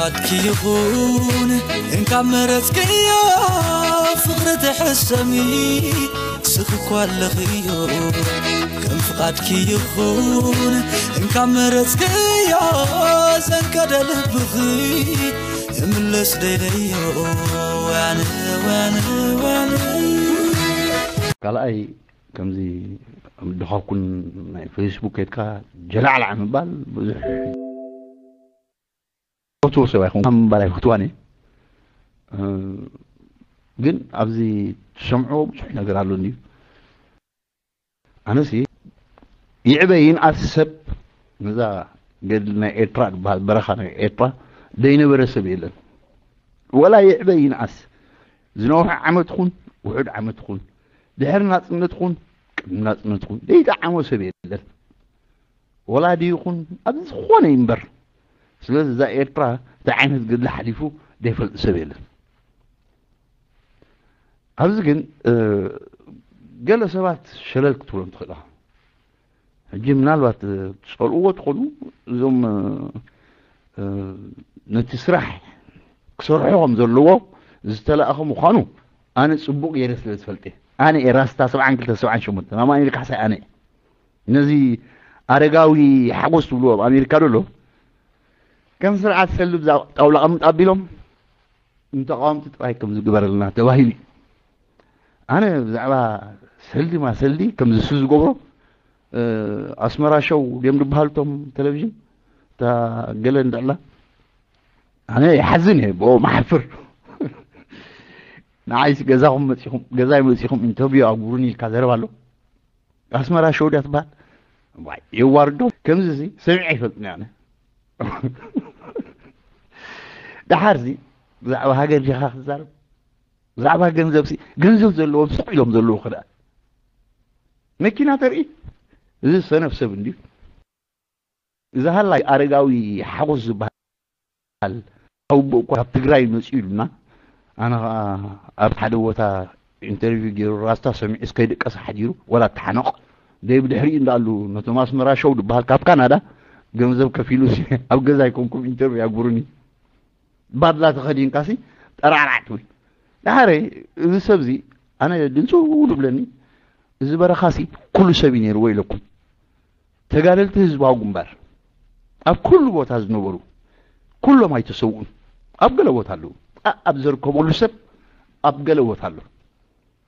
ፍቓድኪ ይኹን እንካብ መረጽክዮ ፍቕሪ ትሕሰሚ ስኺ እኳ ኣለኽዮ ከም ፍቓድኪ ይኹን እንካብ መረጽክዮ ዘንቀደ ልብኺ እምለስ ደይለዮ ወያነ ወያነ ወያነ ካልኣይ ከምዚ ድኻኩን ናይ ፌስቡክ ከድካ ጀላዕላዕ ምባል ብዙሕ ፈትዎ ሰብ ኣይኮንኩ ምባል ኣይፈትዋን እየ። ግን ኣብዚ ትሰምዕዎ ብዙሕ ነገር ኣሎ እንድዩ። ኣነሲ ይዕበ ይንኣስ ሰብ ነዛ ገድሊ ናይ ኤርትራ ዝበሃል በረኻ ናይ ኤርትራ ዘይነበረ ሰብ የለን። ወላ ይዕበ ይንኣስ ዝነውሐ ዓመት ኹን ውሑድ ዓመት ኹን ድሕሪ ናጽነት ኹን ቅድሚ ናጽነት ኹን ዘይጠዓሞ ሰብ የለን። ወላዲ ይኹን ኣብ ዝኾነ ይንበር ስለዚ እዛ ኤርትራ እንታይ ዓይነት ገድሊ ሓሊፉ ዘይፈልጥ ሰብ የለን። ኣብዚ ግን ገለ ሰባት ሸለል ክትብሎም ትኽእል ኢኻ። ሕጂ ምናልባት ትጸልእዎ ትኾኑ እዞም ነቲ ስራሕ ክሰርሖ ከም ዘለዎ ዝተላእኸ ምዃኑ ኣነ ጽቡቕ ገይረ ስለ ዝፈልጥ እየ። ኣነ እየ ራስታ ሰብዓን ክልተ ሰብዓን ሸሞንተ ናብ ኣሜሪካ ሓሳይ ኣነ እየ። ነዚ ኣረጋዊ ሓጎስ ትብልዎ ኣብ ኣሜሪካ ደሎ ከም ስርዓት ሰልዲ ጣውላ ቀምጥ ኣቢሎም ንተቃወምቲ ጥራይ ከም ዝግበረልና ተባሂሉ እዩ። ኣነ ብዛዕባ ሰልዲ ማ ሰልዲ ከም ዝሱ ዝገብሮ ኣስመራ ሸው ድም ዝበሃሉ ቶም ቴሌቪዥን እታ ገለ እንድዕላ ኣነ ይሓዝን እየ ብኦም ሓፍር ንዓይስ ገዛኹም መፂኹም ገዛይ መፂኹም ኢንተርቪው ኣግብሩኒ ኢልካ ዘረባ ኣሎ ኣስመራ ሸው ድያ ትበሃል ዋይ የዋርዶ ከምዚ እዚ ሰሚዐ ይፈልጥኒ ኣነ ደሓር ዚ ብዛዕባ ሃገር ዲኻ ክዛረብ ብዛዕባ ገንዘብ ሲ ገንዘብ ዘለዎም ስቕ ኢሎም ዘለዉ ክዳ መኪና ተርኢ እዚ ሰነፍ ሰብ እንድዩ እዚ ሃላይ ኣረጋዊ ሓጎስ ዝበሃል ኣውቦ እኳ ካብ ትግራይ መፅኡ ኢሉና ኣነ ከዓ ኣብ ሓደ ቦታ ኢንተርቪው ገይሩ ራስታ ሰሚዑ እስከይድቀስ ሓዲሩ ወላ ተሓነቕ ደይ ብድሕሪኡ እንዳኣሉ ነቶም ኣስመራ ሸው ዝበሃል ካብ ካናዳ ገንዘብ ከፊሉ ኣብ ገዛ ኣይኮንኩም ኢንተርቪው ያግብሩኒ ባድላ ተኸዲንካሲ ጠራዕራዕ ትብል ዳሓረ እዚ ሰብዚ ኣነ ድንፅው ድብለኒ እዚ በረኻሲ ኩሉ ሰብ እዩ ነይርዎ ኢለኩም ተጋደልቲ ህዝባዊ ግንባር ኣብ ኩሉ ቦታ ዝነበሩ ኩሎም ኣይተሰውኡን ኣብ ገለ ቦታ ኣለዉ ኣብ ዘርከበሉ ሰብ ኣብ ገለ ቦታ ኣሎ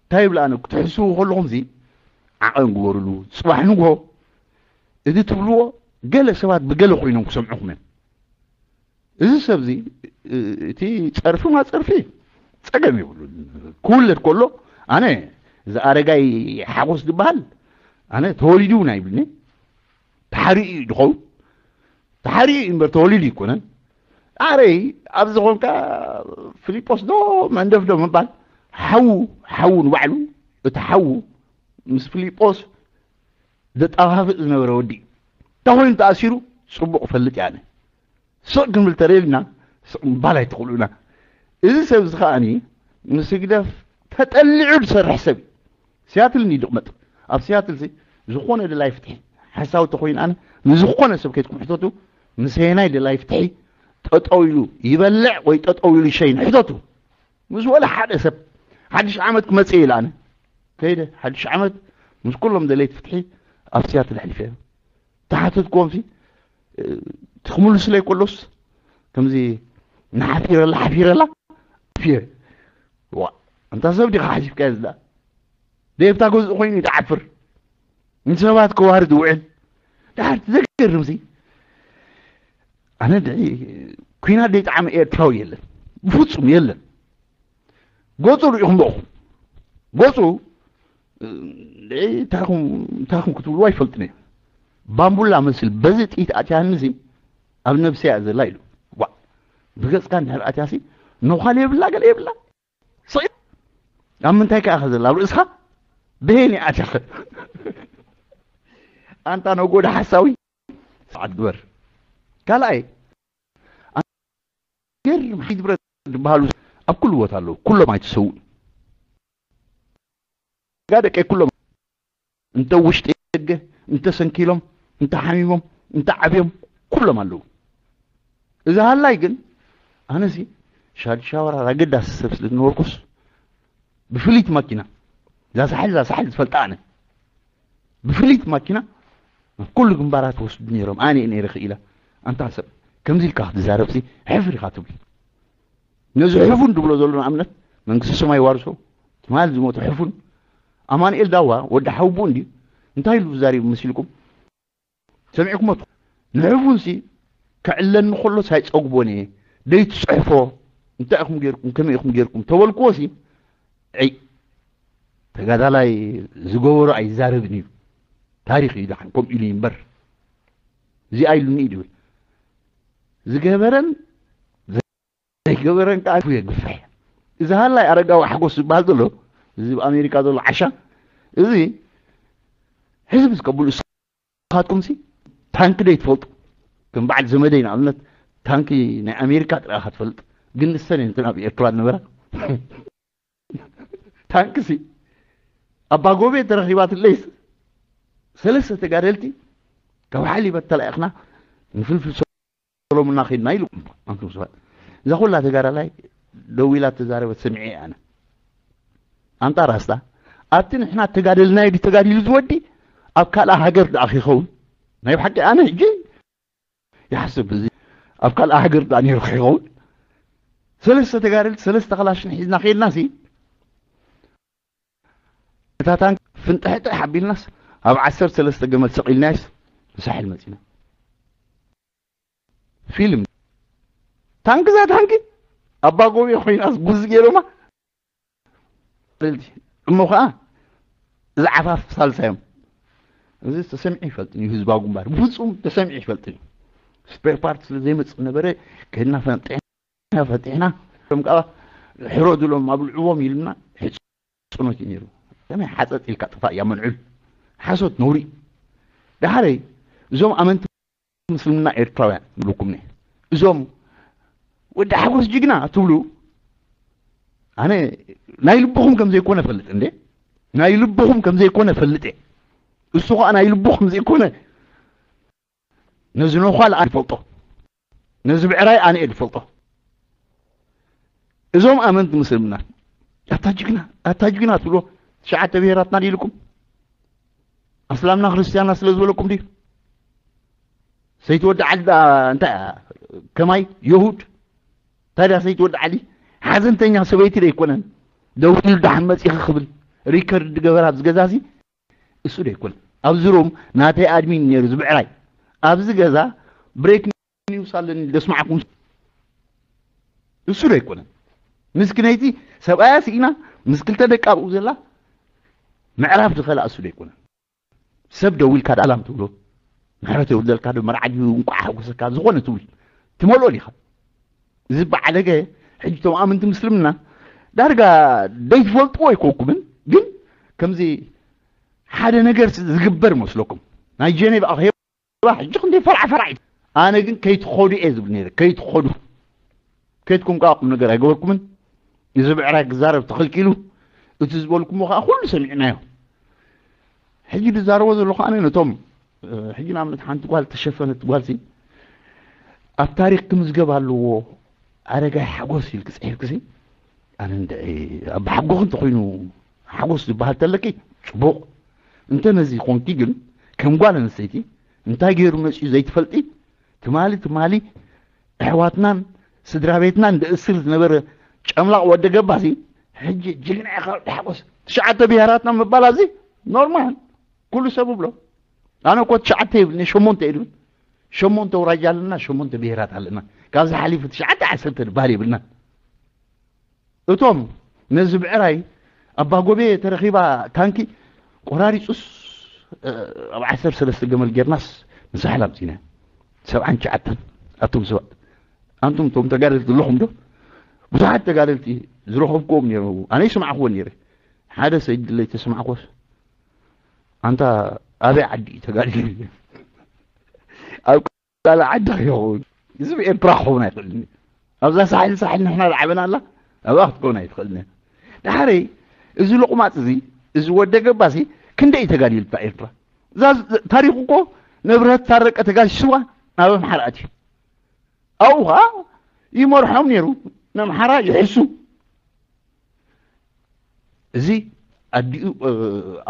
እንታይ ይብል ኣነ ክትሕስቡ ከለኹም ዚ ዓቐን ግበሩሉ ፅባሕ ንግሆ እዚ ትብልዎ ገለ ሰባት ብገለ ኮይኖም ክሰምዑኹም እዮም እዚ ሰብ እዚ እቲ ፀርፊ ማ ፀርፊ ፀገም የብሉ ክውለድ ከሎ ኣነ እዚ ኣረጋይ ሓጎስ ዝበሃል ኣነ ተወሊዱ እውን ኣይብልኒ ተሓሪኡ እዩ ዝኸውን ተሓሪኡ እዩ እምበር ተወሊዱ ይኮነን ኣረይ ኣብዚ ኮንካ ፊሊጶስ ዶ መንደፍ ዶ ምባል ሓዉ ሓዉ ንባዕሉ እቲ ሓዉ ምስ ፊሊጶስ ዘጠፋፍእ ዝነበረ ወዲ እዩ እንታይ ኮይኑ ተኣሲሩ ፅቡቕ ፈልጥ እየ ኣነ ስቕ ክንብል ተደሊና ስቕ ምባል ኣይትኽእሉና እዚ ሰብ እዚ ከዓኒ ምስ ህግደፍ ተጠሊዑ ዝሰርሕ ሰብ እዩ ሲያትል እንድዩ ዝቕመጥ ኣብ ሲያትል ሲ ዝኾነ ደላይ ፍትሒ ሓሳዊ ተኮይኑ ኣነ ንዝኾነ ሰብ ከይትኩም ሕተቱ ምሰየናይ ደላይ ፍትሒ ጠጠው ኢሉ ይበልዕ ወይ ጠጠው ኢሉ ይሸይን ሕተቱ ምስ ወለ ሓደ ሰብ ሓድሽ ዓመት ክመፅእ ኢለ ኣነ ከይደ ሓድሽ ዓመት ምስ ኩሎም ደለይቲ ፍትሒ ኣብ ሲያትል ኣሕሊፈ ተሓተትክዎም ሲ ትኽምልስለይ ከሎስ ከምዚ ንሓፊረላ ሓፊረላ ፊረ ዋ እንታ ሰብ ዲኻ ሓሲብካዮ ዝዳ ደብታ ገዝኡ ኮይኑ ይትዓፍር ንሰባት ከዋርድ ውዕል ድሓር ዘገርም ሲ ኣነ ድዒ ኩናት ደይጠዓመ ኤርትራዊ የለን ብፍጹም የለን ገጹ ርኢኹም ዶ ገጹ እንታይ ኹም ክትብልዎ ኣይፈልጥን እየ ባምቡላ መስል በዚ ጥይት ኣትያኒ ሲ ኣብ ነብሰይ እያ ዘላ ኢሉ ዋ ብገጽካ እንድሕር ኣትያ ሲ ነዃል የብላ ገለ የብላ ስቕ ኣብ ምንታይ ከኣ ዘላ ኣብ ርእስኻ ብሄን እያ ኣትያ ኣንታ ነጎዳ ሓሳዊ ሰዓት ግበር ካልኣይ ገርም ሓይሊ ብረት ዝበሃሉ ኣብ ኩሉ ቦታ ኣለዉ ኩሎም ኣይትሰውኡ ጋ ደቀይ ኩሎም እንተ ውሽጢ ደገ እንተ ሰንኪሎም እንተ ሓሚሞም እንተ ዓብዮም ኩሎም ኣለዉ እዚ ሃላይ ግን ኣነሲ ሻድሻወራ ኣገዳሲ ሰብ ስለ ዝነበርኩስ ብፍልይቲ ማኪና እዛ ሳሕል እዛ ሳሕል ዝፈልጣ ኣነ ብፍልይቲ ማኪና ኩሉ ግንባራት ወስዱ ነይሮም። ኣነ ነይረ ክኢላ ኣንታ ሰብ ከምዚ ኢልካ ክትዛረብሲ ሕፍር ኢኻ ትብል። ነዚ ሕፉን ዝብሎ ዘሎ ንኣብነት መንግስቲ ሰማይ ዋርሶ ትማል ዝሞተ ሕፉን ኣማንኤል ዳዋ ወዲ ሓውቡ እንዲ እንታይ ኢሉ ዛሪቡ መሲልኩም? ሰሚዕኩሞ ንሕፉንሲ ክዕለኒ ከሎስ ኣይጸግቦን እየ። ደይትጽሕፎ እንታይ ኢኹም ጌርኩም ከመይ ኢኹም ጌርኩም ተበልክዎሲ ዒ ተጋዳላይ ዝገበሮ ኣይዛረብን እዩ። ታሪኽ እዩ ደሓን ከምኡ ኢሉ እምበር እዚኣ ኢሉኒ እዩ ዝብል። ዝገበረን ዘይገበረን ከዓ ኣፉ የግፍሕ። እዚ ሃላይ ኣረጋዊ ሓጎስ ዝበሃል ዘሎ እዚ ኣብ ኣሜሪካ ዘሎ ዓሻ እዚ ሕዝብ ዝቀብሉ ንስኻትኩምሲ ታንኪ ደይ ትፈልጡ ከም በዓል ዘመደይ ንኣብነት ታንኪ ናይ ኣሜሪካ ጥራኻ ትፈልጥ ግን ንሰን እየን ኣብ ኤርትራ ዝነበራ ታንክሲ ኣባ ጎቤ ተረኺባትለይስ ሰለስተ ተጋደልቲ ካብ ሓሊበት ተላኢኽና ንፍልፍል ሰሎምና ኸድና ኢሉ ኣንቱም ሰባት እዛ ኩላ ተጋዳላይ ደዊላ ተዛረበት ሰሚዐ ኣነ ኣንታ ራስታ ኣብቲ ንሕና ተጋደልናዮ ድዩ ተጋዲሉ ዝወዲ ኣብ ካልኣ ሃገር ደኣ ኺኸውን ናይ ብሓቂ ኣነ ሕጂ ይሓስብ እዚ ኣብ ካልኣ ሃገር ደኣ ነይሩ ኺኸውን ሰለስተ ተጋደልቲ ሰለስተ ኸላሽን ሒዝና ኸድና ሲ እታ ታንክ ፍንጥሕጥሕ ኣቢልናስ ኣብ ዓሰርተ ሰለስተ ገመል ሰቒልናዮስ ንሳሕል መፂና ፊልም ታንክ እዛ ታንክ ኣባ ጎቤ ኮይናስ ጉዝ ገይሮማ እሞ ከዓ እዚ ዓፋፍ ሳልሳዮም እዚ ተሰሚዑ ይፈልጥን እዩ ህዝባዊ ግንባር ብፍፁም ተሰሚዑ ይፈልጥን እዩ ስፔር ፓርት ስለ ዘይመፅእ ነበረ ከድና ፈንጢሕና ፈንጢሕና ም ከዓ ሕረዱሎም ኣብልዕዎም ኢልና ሕፅኖት እዩ ነይሩ ከመይ ሓፀጥ ኢልካ ጥፋእ እያ መንዑል ሓሶት ነውሪ ዳሓረይ እዞም ኣመንቲ ምስልምና ኤርትራውያን ይብለኩም እየ። እዞም ወዲ ሓጎስ ጅግና ትብሉ ኣነ ናይ ልብኹም ከም ዘይኮነ ፈልጥ እንዴ ናይ ልብኹም ከም ዘይኮነ ፈልጥ እየ። እሱ ከዓ ናይ ልቡ ከም ዘይኮነ ነዚ ነዃል ኣነ ይፈልጦ ነዚ ብዕራይ ኣነ እየ ዝፈልጦ። እዞም ኣመንቲ ምስልምና ኣታ ጅግና ኣታ ጅግና ትብሎ ትሽዓተ ብሄራትና ኢልኩም ኣስላምና ክርስትያንና ስለ ዝበለኩም ድዩ ሰይቲ ወዲ ዓሊ እንታይ ከማይ የሁድ ታዲያ ሰይቲ ወዲ ዓሊ ሓዘንተኛ ሰበይቲ ዶ ኣይኮነን ደው ኢሉ ደሓን መፂኺ ክብል ሪከርድ ዝገበራ ኣብዚ ገዛ እዚ እሱ ዶ ኣይኮነን ኣብዚ ሩም ናተይ ኣድሚን ነይሩ ዝብዕራይ ኣብዚ ገዛ ብሬክ ኒውስ ኣለኒ ደስማዕኩም እሱ ዶ ኣይኮነን ምስክነይቲ ሰብኣያ ስኢና ምስ ክልተ ደቂ ኣብኡ ዘላ ምዕራፍ ዝኸላ እሱ ዶ ኣይኮነን ሰብ ደዊልካ ዳላም ትብሎ ምሕረት የውርደልካ ዶ መርዓ ድዩ እንቋዕ ሓጎሰካ ዝኾነ ትብል ትመልኦ ዲኻ እዚ በዓለገ ሕጂ ቶም ኣምንቲ ምስልምና ዳርጋ ደይትፈልጥዎ ኣይኮንኩምን ግን ከምዚ ሓደ ነገር ዝግበር መስለኩም ናይ ጀኔቭ ኣኼባ ሕጂ ክንደይ ፈርዓ ፈርዓ ኣነ ግን ከይትኸዱ እየ ዝብል ነይረ ከይትኸዱ ከይትኩም ከዓ ቁም ነገር ኣይገበርኩምን እዚ ብዕራይ ክዛረብ ተኸልኪሉ እቲ ዝበልኩሞ ከዓ ኩሉ ሰሚዕናዮ ሕጂ ዝዛረቦ ዘለኹ ኣነ ነቶም ሕጂ ንኣብነት ሓንቲ ጓል ተሸፈነት ጓልሲ ኣብ ታሪክ ክምዝገብ ኣለዎ ኣረጋይ ሓጎስ ኢልክ ፅሒፍክሲ ኣነ እንድዒ ኣብ ሓጎክ እንተኮይኑ ሓጎስ ዝበሃል ተለኪ ፅቡቅ እንተ ነዚ ኮንኪ ግን ከም ጓል ኣንስተይቲ እንታይ ገይሩ መፅኡ ዘይትፈልጢ ትማሊ ትማሊ ኣሕዋትናን ስድራ ቤትናን ዝእስር ዝነበረ ጨምላቕ ወዲ ገባሲ ሕጂ ጅግና ኢኻ ወዲ ሓጎስ ትሽዓተ ብሄራትና ምባል ኣብዚ ኖርማል ኩሉ ሰብ ብሎ ኣነ እኮ ትሽዓተ ይብልኒ ሸሞንተ ይብል ሸሞንተ ውራጃ ኣለና ሸሞንተ ብሄራት ኣለና ካብዚ ሓሊፉ ትሽዓተ ዓሰርተ ድበሃል የብልና እቶም ነዚ ብዕራይ ኣባ ጎቤ ተረኺባ ታንኪ ቆራሪፁስ ኣብ ዓሰርተ ሰለስተ ገመል ጌርናስ ንሳሕል ኣምፂና ሰብዓን ትሽዓተን ኣቱም ሰባት ኣንቱም ቶም ተጋደልቲ ኣለኹም ዶ ብዙሓት ተጋደልቲ ዝረኸብክዎም ነይሩ ኣነ ይስማዕክዎ ነይረ ሓደ ሰይድ ድለይ ተስማዕኮስ ኣንታ ኣበይ ዓዲ እዩ ተጋዲሉ ኣብ ካልእ ዓዲ ከይኸውን እዚ ብኤርትራ ክኸውን ኣይኽእልን ኣብዛ ሳሕል ሳሕል ንሕና ዝዓበና ኣላ ኣብኣ ክትከውን ኣይትኽእልን እያ ድሓረይ እዚ ሎቕማፅ እዚ እዚ ወደ ገባሲ ክንደይ እዩ ተጋዲሉ እታ ኤርትራ እዛ ታሪኹ እኮ ንብረት ታረቀ ተጋሲስዋ ናብ ኣምሓራ ኣትዩ ኣብኡ ከዓ ይመርሖም ነይሩ። ንኣምሓራ ይሕሱ። እዚ ኣዲኡ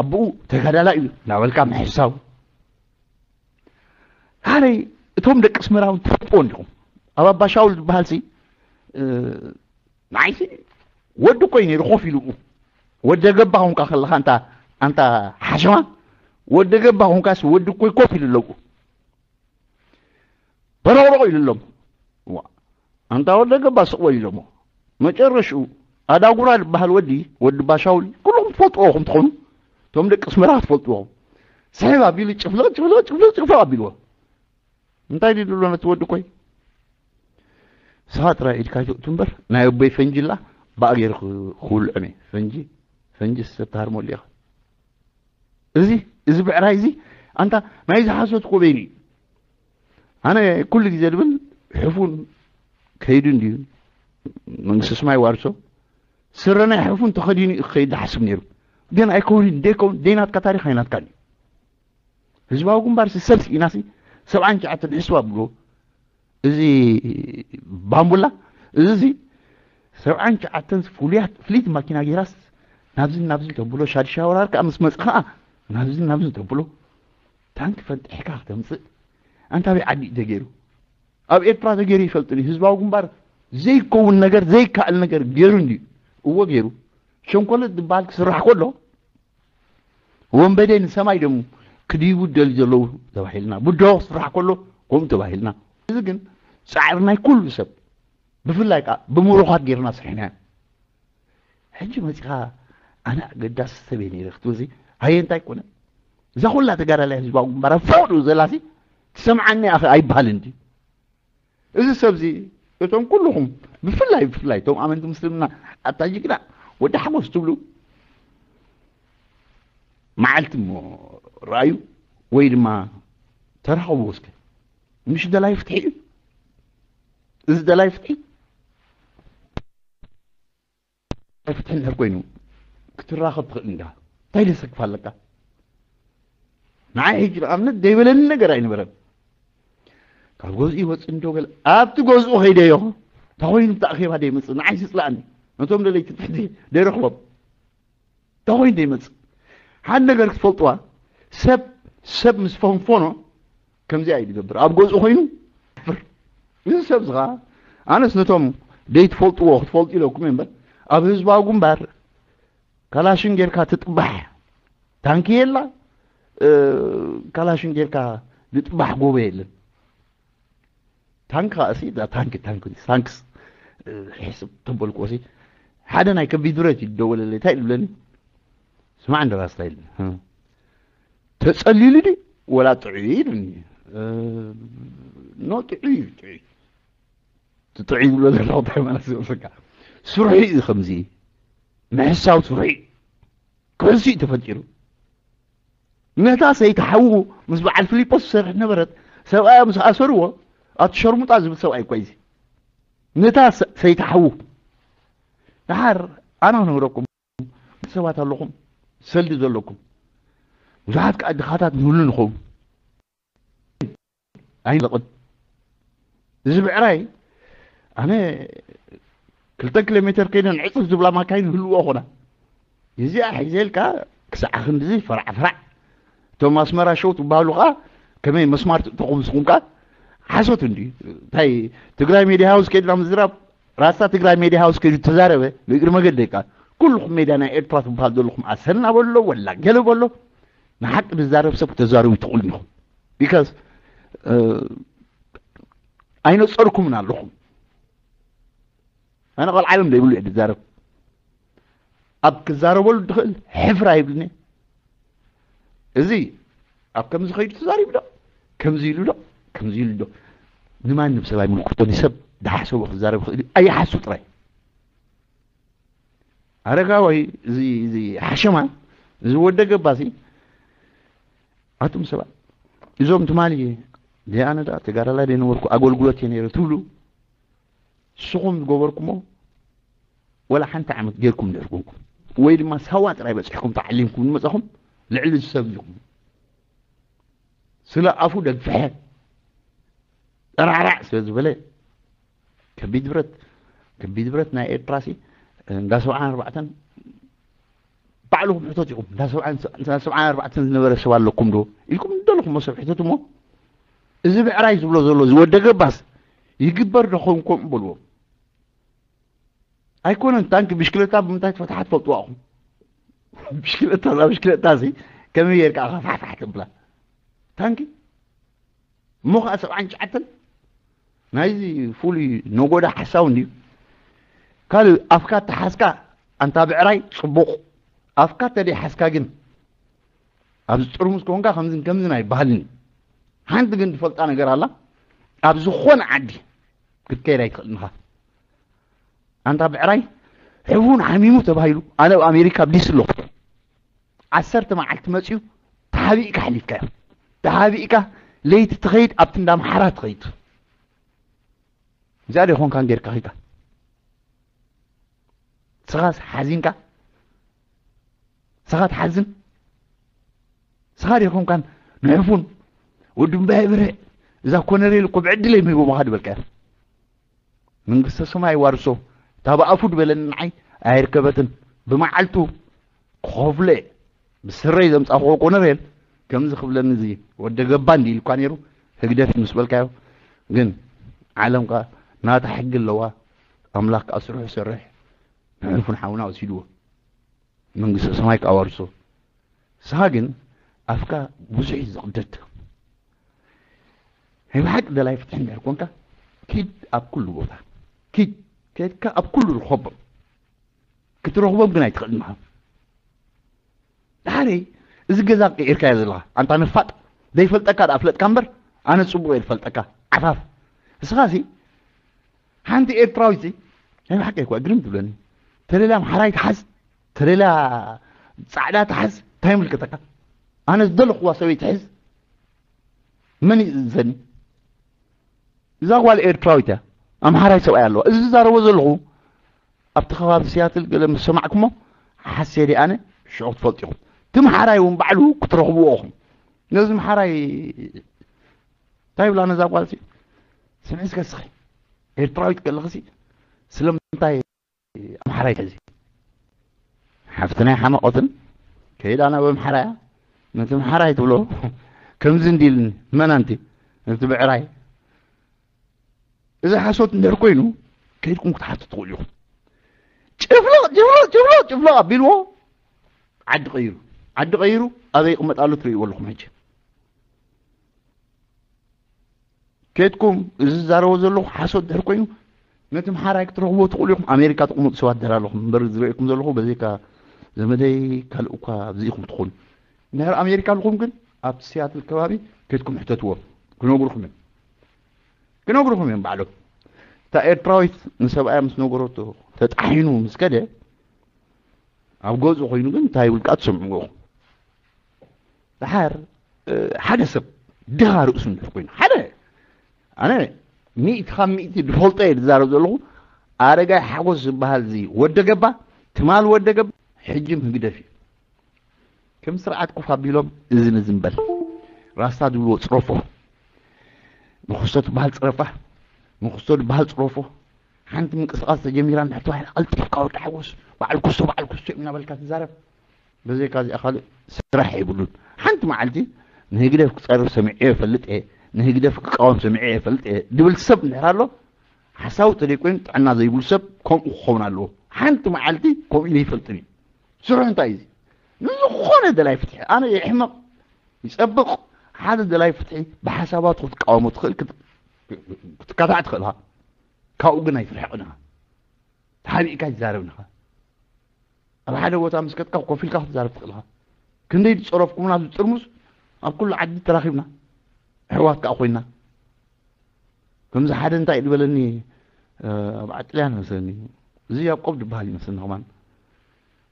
ኣቦኡ ተጋዳላይ እዩ እናበልካ ምሕሳው። ሃረይ እቶም ደቂ ኣስመራ እውን ትፈልጥዎ እንዲኹም። ኣብ ኣባሻውል ዝበሃል ሲ ንዓይሲ ወዲ እኮ እዩ ነይሩ ኮፍ ኢሉ። ወደ ገባ ኹንካ ከለኻ ኣንታ ኣንታ ሓሸማ፣ ወደ ገባ ኹንካስ ወዲ እኮ ኮፍ ኢሉ ኣለዉ። በረቕረቕ ኢሉ ኣሎም። ኣንታ ወደ ገባ ስቕ በል ኢሎሞ። መጨረሽኡ ኣዳጉራ ዝበሃል ወዲ ወዲ ባሻውል ኩልኹም ትፈልጥዎ ኹም ትኾኑ። እቶም ደቂ ኣስመራ ትፈልጥዎ። ስሕብ ኣቢሉ ጭፍልቕ ጭፍልቕ ጭፍልቕ ጭፍልቕ ኣቢልዎ። እንታይ ድዩ ድሎ ነቲ ወዲ ኮይ? ስኻ ጥራይ ኢድካ ትእቱ እምበር ናይ ኣቦይ ፈንጂ ላ ባእ ገይሩ ክውልዖም እየ። ፈንጂ ፈንጂ ሰብ ትሃርመሉ ኢኻ። እዚ እዚ ብዕራይ እዚ ኣንታ ናይ ዝሓሶት ኮበይኑ እዩ። ኣነ ኩሉ ግዜ ድብል ሕፉን ከይዱ እንድዩ መንግስቲ ስማይ ዋርሶ ስረ ናይ ሕፉን ተኸዲኑ እዩ ክኸይድ ዝሓስብ ነይሩ። ግን ኣይከውንን ደይከውን ደይናትካ ታሪኽ ኣይናትካን እዩ። ህዝባዊ ግንባር ሲ ሰብ ስኢናሲ ሰብዓን ትሽዓተን ሕስባ ብሎ እዚ ባምቡላ እዚ እዚ ሰብዓን ትሽዓተን ፍሉያት ፍሊት ማኪና ጌራስ ናብዝን ናብዝን ተብሎ ሻድሻ ወራር ከዓ ምስ መፅ ከዓ ናብዝን ናብዝን ተብሎ ታንክ ፈንጢሕካ ክተምፅእ ኣንታ በይ ዓዲ እዩ ተገይሩ ኣብ ኤርትራ ተገይሩ ይፈልጥን ህዝባዊ ግንባር ዘይከውን ነገር ዘይከኣል ነገር ገይሩ እንድዩ እዎ ገይሩ ሸንኮለት ዝበሃል ክስራሕ ከሎ ወንበዴ ንሰማይ ደም ክድይቡ ደል ዘለዉ ተባሂልና ብድሆ ክስራሕ ከሎ ከምኡ ተባሂልና እዚ ግን ፃዕሪ ናይ ኩሉ ሰብ ብፍላይ ከዓ ብምሩኻት ጌርና ስርሕና ሕጂ መፂኻ ኣነ ኣገዳሲ ሰብ እየ ነይረ ክትብል ኣየ እንታይ ኮነ እዛ ኩላ ተጋዳላይ ህዝባዊ ግንባር ኣብ ፈቅዱ ዘላሲ ትሰምዓኒ ኣኸ ኣይበሃልን ድዩ እዚ ሰብዚ እቶም ኩልኹም ብፍላይ ብፍላይ እቶም ኣመንቲ ምስልምና ኣታ ጅግና ወዲ ሓጎስ ትብሉ መዓልቲ እሞ ረኣዩ ወይ ድማ ተራኸቡ እስከ ምሽ ደላይ ፍትሒ እዩ እዚ ደላይ ፍትሒ ፍትሒ እንድሕር ኮይኑ ክትራኸብ ትኽእል እንዳ እንታይ ደሰክፍ ኣለካ ንዓይ ሕጂ ንኣብነት ዘይበለኒ ነገር ኣይነበረን ካብ ገዝኡ ይወፅእ እንዶ ገለ ኣብቲ ገዝኡ ከይደዮ ተኾይኑ ብቲ ኣኼባ ደይመፅእ ንዓይ ዝፅላእኒ ነቶም ደለይቲ ትሕቲ ደይረኽቦም ተኾይኑ ደይመፅእ ሓደ ነገር ክትፈልጥዋ ሰብ ሰብ ምስ ፈንፈኖ ከምዚኣ እዩ ዝገብር ኣብ ገዝኡ ኮይኑ ፍር እዚ ሰብ ዝኻ ኣነስ ነቶም ደይትፈልጥዎ ክትፈልጡ ኢለኩም እምበር ኣብ ህዝባዊ ግንባር ካላሽን ጌርካ ትጥባሕ ታንኪ የላ ካላሽን ጌርካ ዝጥባሕ ጎቦ የለን ታንክ ከዓ እሲ ታንክ ታንክ ታንክስ ሕስብ ተበልኩ ሲ ሓደ ናይ ከቢድ ብረት ይደወለለይ እንታይ ይብለኒ ስማዕ እንደ ራስታ ይል ተጸሊሉ ዲ ወላ ጥዑይ ይብልኒ ኖ ጥዑይ እዩ ጥዑይ ጥዑይ ዝብሎ ዘለኹ እንታይ ማለት ዝመስለካ ስርሑ እዩ ከምዚ ምሕሳው ስርሑ እዩ ክሕሱ እዩ ተፈጢሩ ነታ ሰይቲ ሓዉ ምስ በዓል ፊሊጶስ ትሰርሕ ነበረት ሰብኣያ ምስ ኣሰርዎ ኣቲ ሸርሙጣ ዝብል ሰብኣይ እኳ እዚ ነታ ሰይቲ ሓዉ ደሓር ኣነ ክነግረኩም ሰባት ኣለኹም ሰልዲ ዘለኩም ብዙሓት ከዓ ድኻታት ንህሉ ንኸውን ኣይንለቕን እዚ ብዕራይ ኣነ ክልተ ኪሎ ሜትር ከይደን ዕፅፍ ዝብላ ማካይን ህልዎ ኾና እዚኣ ሒዘልካ ክሳዕ ክንድዚ ፈራዕ ፈራዕ እቶም ኣስመራ ሸው ትበሃሉ ከዓ ከመይ መስማር ትእተኹም ንስኹም ከዓ ሓሶት እንዲ እንታይ ትግራይ ሜድያ ሃውስ ከድና ምዝራብ ራስታ ትግራይ ሜድያ ሃውስ ከይዱ ተዛረበ ብእግሪ መገደይ ከዓ ኩልኹም ሜድያ ናይ ኤርትራ ትበሃል ዘለኹም ኣሰና በሎ ወላ ገለ በሎ ንሓቂ ዝዛረብ ሰብ ክተዛረቡ ትኽእሉ ኢኹም ቢካዝ ኣይነፀርኩምን ኣለኹም ኣነ ቆልዓ ኢሎም ዘይብሉ እየ ዝዛረብ ኣብ ክዛረበሉ ድኽእል ሕፍራ ይብልኒ እዚ ኣብ ከምዚ ኸይዱ ተዛሪቡ ዶ ከምዚ ኢሉ ዶ ከምዚ ኢሉ ዶ ንማንም ሰብ ኣይምልክቶን ሰብ ድሓሰቦ ክዛረብ ኽእል እዩ ኣይሓሱ ጥራይ ኣረጋወይ እዚ እዚ ሓሸማ እዚ ወደ ገባሲ ኣቱም ሰባት እዞም ትማሊ ደኣነ ዳ ተጋዳላይ ደነበርኩ ኣገልግሎት እየ ነይረ ትብሉ ንስኹም ዝገበርኩሞ ወላ ሓንቲ ዓመት ጌርኩም ድሕር ኮንኩም ወይ ድማ ሳዋ ጥራይ በፂሕኩም ተዓሊምኩም ዝመፃኹም ልዕሊ ዝሰብ ኢኹም ስለ ኣፉ ደግፍሐ ጠራዕራዕ ስለ ዝበለ ከቢድ ብረት ከቢድ ብረት ናይ ኤርትራሲ እንዳ ሰብዓን ኣርባዕተን ባዕልኹም ሕተት ኢኹም። እንዳ ሰብዓን እንዳ ሰብዓን ኣርባዕተን ዝነበረ ሰብ ኣለኩም ዶ ኢልኩም እንደለኹም ሰብ ሕተት እሞ፣ እዚ ብዕራይ ዝብሎ ዘሎ ዝወደ ገባስ ይግበር ዶ ኸውን ከምኡ በልዎም። ኣይኮነን ታንኪ ብሽክለታ ብምንታይ ትፈትሓ ትፈልጥዋ ኢኹም። ብሽክለታ እዛ ብሽክለታ እዚ ከመይ ጌርካ ኢኻ ፋሕፋሕ ተብላ ታንኪ እሞ ከዓ ሰብዓን ትሽዓተን ናይዚ ፍሉይ ነጎዳ ሓሳው እንድዩ። ካልእ ኣፍካ ተሓዝካ ኣንታ ብዕራይ ጽቡቕ፣ ኣፍካ ተደይ ሓዝካ ግን ኣብዚ ጥርሙዝ ኮንካ ከምዝን ከምዝን ኣይበሃልን እዩ። ሓንቲ ግን ትፈልጣ ነገር ኣላ፣ ኣብ ዝኾነ ዓዲ ክትከይድ ኣይትኽእልን ኢኻ። ኣንታ ብዕራይ ሕፉን ሓሚሙ ተባሂሉ ኣነ ኣብ ኣሜሪካ ኣብዲስ ኣለኹ። ዓሰርተ መዓልቲ መፅዩ ተሓቢእካ ሓሊፍካዮ። ተሓቢእካ ለይቲ ትኸይድ ኣብቲ እንዳ ኣምሓራ ትኸይድ። እዚኣ ዶ ይኾንካን ጌርካ ኺድካ? ስኻስ ሓዚንካ? ስኻ ትሓዝን? ስኻ ዶ ይኾንካን ንሕፉን ወዲ እምባየ ብርዕ እዛ ኮነሬል እኮ ብዕድለይ ምህቦ ምኻ ድበልካዮ። መንግስተ ሰማይ ዋርሶ እታ ብኣፉ ድበለኒ ንዓይ ኣይርከበትን። ብመዓልቱ ክኸፍሎ እየ። ብስረይ ዘምጻእክዎ ኮነሬል ከምዚ ክብለኒ እዚ ወደ ገባ እንዲ ኢልኳ ነይሩ። ህግደፍ ምስ በልካዮ ግን ዓለም ከኣ ናታ ሕጊ ኣለዋ። ኣምላኽ ከኣ ስርሑ ይሰርሕ። ንሕልፉን ሓውና ወሲድዎ። መንግስተ ሰማይ ከኣ ዋርሶ። ንስኻ ግን ኣፍካ ብዙሕ እዩ ዝቕደድ። ናይ ብሓቂ ደላይ ፍትሒ እንድሕር ኮንካ ኪድ ኣብ ኩሉ ቦታ ኪድ ከድካ ኣብ ኩሉ ርኸቦም። ክትረኽቦም ግን ኣይትኽእልን ኢኻ። ድሓረይ እዚ ገዛ ቀይርካዮ ዘለኻ ኣንታ ነፋጥ ዘይፈልጠካ ደኣ ፍለጥካ እምበር ኣነ ጽቡቕ እየ ዝፈልጠካ ዓፋፍ። ንስኻሲ ሓንቲ ኤርትራዊት ናይ ብሓቂ እኳ ግርም ትብለኒ። ተለላ ኣምሓራይ ትሓዝ ተለላ ጻዕዳ ትሓዝ እንታይ ይምልከተካ? ኣነ ዝደለኽዋ ሰበይቲ ሕዝ መን ይእዘኒ? እዛ ጓል ኤርትራዊት እያ። ኣምሓራይ ሰብኣይ ኣለዋ። እዚ ዝዛረቦ ዘለኹ ኣብቲ ከባቢ ሲያትል ገለ ምስ ሰማዕኩሞ ሓሴ ደይ ኣነ ሽዑ ክትፈልጡ ኢኹም። እቲ ምሓራይ እውን ባዕሉ ክትረኽብዎ ኢኹም። ነዚ ምሓራይ እንታይ ይብላ ነዛ ጓል ሲ ስምዒ እስከ እስኺ ኤርትራዊት ከለኽሲ ስለምንታይ ኣምሓራይ ሕዚ ሓፍትናይ ሓመቆትን ከይዳ ናብ ኣምሓራያ ነቲ ምሓራይ ትብሎ ከምዚ እንዲልኒ መን ኣንቲ ነቲ ብዕራይ እዚ ሓሶት እንድሕር ኮይኑ ከይድኩም ክትሓቱ ትኽእሉ ኢኹም። ጭፍለቕ ጭፍለቕ ጭፍለቕ ጭፍለቕ ኣቢልዎ ዓዲ ቀይሩ ዓዲ ቀይሩ ኣበይ ይቕመጣሉ ትርእይዎ ኣለኹም ሕጂ። ኬድኩም እዚ ዝዛረቦ ዘለኹ ሓሶት ድሕር ኮይኑ ነቲ ምሓራይ ክትረኽብዎ ትኽእሉ ኢኹም። ኣሜሪካ ትቕመጡ ሰባት ድሕር ኣለኹም እምበር ዝርእየኩም ዘለኹ በዘይካ ዘመደይ ካልእ እኳ ኣብዚ ኢኹም ትኾኑ። እንድሕር ኣሜሪካ ኣለኹም ግን ኣብቲ ሲያትል ከባቢ ኬድኩም ሕተትዎም ክነግሩኹም እዮም። ክነግሩኹም እዮም ባዕሎም። እታ ኤርትራዊት ንሰብኣያ ምስ ነገረቶ ተጣሒኑ ምስ ከደ ኣብ ገዝኡ ኮይኑ ግን እንታይ ይብል ከኣ ትሰምዕዎ ኢኹም። ደሓር ሓደ ሰብ ድኻ ርእሱ እንድሕር ኮይኑ ሓደ ኣነ ሚእቲ ካብ ሚእቲ ዝፈልጦ እየ ዝዛረብ ዘለኹ። ኣረጋይ ሓጎስ ዝበሃል እዚ ወደ ገባ ትማል ወደ ገባ ሕጂ ምህግደፍ እዩ። ከም ስርዓት ኮፍ ኣቢሎም እዝን እዝን በል ራስታ ዝብልዎ ፅረፎ። ንክስቶ ትበሃል ፅረፋ ንክስቶ ዝበሃል ፅረፎ። ሓንቲ ምንቅስቃስ ተጀሚራ እንድሕር ተባሂላ ቀልጢፍካ ወዲ ሓጎስ በዓል ክስቶ በዓል ክስቶ እዩ እናበልካ ትዛረብ። በዘይካ እዚኣ ካልእ ስራሕ የብሉን። ሓንቲ መዓልቲ ንህግደፍ ክፀርፍ ሰሚዐ ይፈልጥ እየ ንህግደፍ ክቃወም ሰሚዐ ይፈልጥ እየ ድብል ሰብ እንድሕር ኣሎ ሓሳዊ ተደይኮይኑ ጥዕና ዘይብሉ ሰብ ከምኡ ክኸውን ኣለዎ። ሓንቲ መዓልቲ ከምኡ ኢሉ ይፈልጥን እዩ። ስርሑ እንታይ እዩ? ንዝኾነ ደላይ ፍትሒ ኣነ ይሕመቕ ይፀብቕ ሓደ ደላይ ፍትሒ ብሓሳባቱ ክትቃወሞ ትኽእል ክትካታዕ ትኽእል ኢኻ። ካብኡ ግን ኣይትርሕቕን ኢኻ። ተሓቢእካ ይዛረብ ኢኻ። ኣብ ሓደ ቦታ ምስ ከድካ ኮፍ ኢልካ ክትዛረብ ትኽእል ኢኻ። ክንደይ ዝፀረፍኩምና ኣብዚ ጥርሙዝ ኣብ ኩሉ ዓዲ ተራኺብና ኣሕዋት ከዓ ኮይና ከምዚ ሓደ እንታይ ዝበለኒ ኣብ ዓጥልያን መስለኒ እዚ ያቆብ ዝበሃል ይመስለኒ ከማን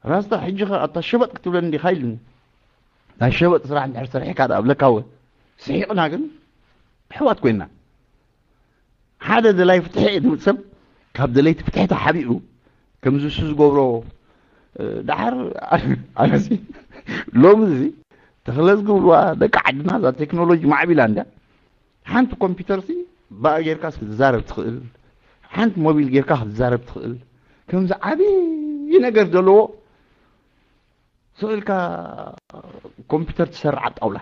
ራስታ ሕጂ ከ ኣታ ሸበጥ ክትብለኒ ዲኻ ኢሉኒ ናይ ሸበጥ ስራሕ እንድሕር ሰሪሕካ ደኣ ብለካ ወ ስሒቕና ግን ኣሕዋት ኮይና ሓደ ደላይ ፍትሒ እየ ዝብል ሰብ ካብ ደለይቲ ፍትሒ ተሓቢኡ ከምዚ እሱ ዝገብሮ ደሓር ኣነሲ ሎሚ እዚ ተኽለ ዝገብርዋ ደቂ ዓድና እዛ ቴክኖሎጂ ማዕቢላ እንዳ ሓንቲ ኮምፒውተር ሲ ብኣ ጌርካ ክትዛረብ ትኽእል ሓንቲ ሞቢል ጌርካ ክትዛረብ ትኽእል። ከምዚ ዓብዪ ነገር ዘለዎ ስቕ ኢልካ ኮምፒውተር ትሰርዓ ጣውላ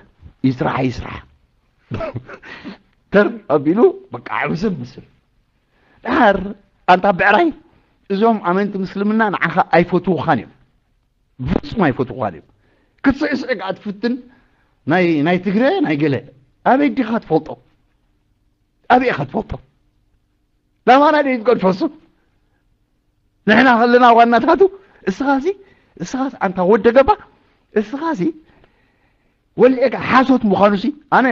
ይስራሕ ይስራሕ ተር ኣቢሉ በቃ ዓብሰብ ምስል ድሓር ኣንታ ብዕራይ እዞም ኣመንቲ ምስልምና ንዓኻ ኣይፈትውኻን እዮም። ብፍጹም ኣይፈትውኻን እዮም። ክትስዕስዕ ከኣ ትፍትን ናይ ናይ ትግረ ናይ ገለ ኣበይ ዲኻ ትፈልጦ? ኣበይ ኢኻ ትፈልጦ? ናባና ደይ ትገድፈሱ ንሕና ከለና ዋናታቱ እስኻሲ እስኻስ ኣንታ ወደ ገባ እስኻሲ ወልዕካ ሓሶት ምዃኑሲ ኣነ